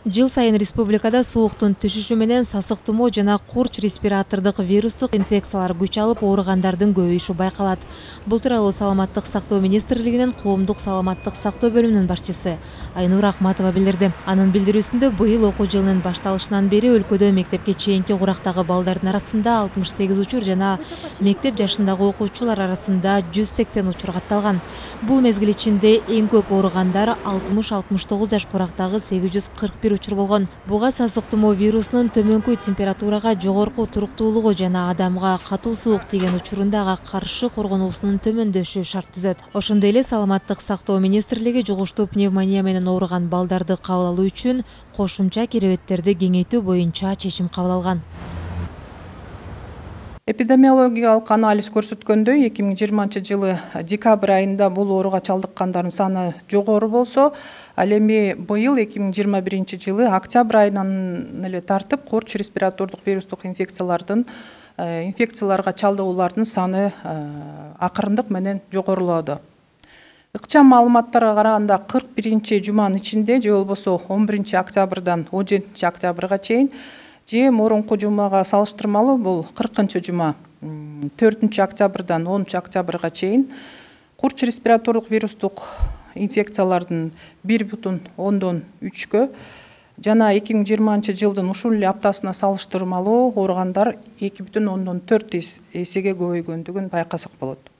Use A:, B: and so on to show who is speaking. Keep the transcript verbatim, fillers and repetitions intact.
A: Жыл сайын республикада сууктун түшүшү менен сасык тумоо жана курч респиратордук вирустук инфекциялар күч алып ооругандардын көбөйүшү байкалат. Бул тууралуу Саламаттык сактоо министрлигинин коомдук саламаттык сактоо бөлүмүнүн башчысы Айнура Ахматова билдирди. Анын билдирүүсүндө быйыл окуу жылынын башталышынан бери өлкөдө мектепке чейинки курактагы балдардын арасында алтымыш сегиз учур жана мектеп жашындагы окуучулар арасында жүз сексен учур катталган. Бул мезгил ичинде эң көп ооругандар алтымыш алтымыш тогуз жаш курактагы сегиз жүз кырк бир учур болгон. Буга сасык тумоо вирусунун төмөнкү температурага, жогорку туруктуулугу жана адамга катуу суук тийген учурунда ага каршы коргонуусунун төмөндөшү шарт түзөт. Ошондой эле Саламаттык сактоо министрлиги жугуштуу пневмония менен ооруган балдарды кабыл алуу үчүн кошумча керебеттерди кеңейтүү боюнча чечим кабыл алган.
B: Эпидемиологиялык анализ көрсөткөндөй, эки миң жыйырманчы жылы декабрь айында бул ооруга чалдыккандардын саны жогору болсо, ал эми быйыл эки миң жыйырма биринчи жылы октябрь айынан эле тартып курч респиратордук вирустук инфекциялардын инфекцияларга чалдыгуулардын саны акырындык менен жогорулоодо. Ыкчам маалыматтарга караганда кырк биринчи жуманын ичинде же болбосо он биринчи октябрдан он жетинчи октябрга чейин же мурунку жумага салыштырмалуу бул кыркынчы жума төртүнчү октябрдан онунчу октябрга чейин курч респиратордук вирустук инфекциялардын бир бүтүн ондон үчкө жана эки миң жыйырманчы жылдын ушул эле аптасына салыштырмалуу ооругандар эки бүтүн ондон төрт эсеге көбөйгөндүгүн байкасак болот.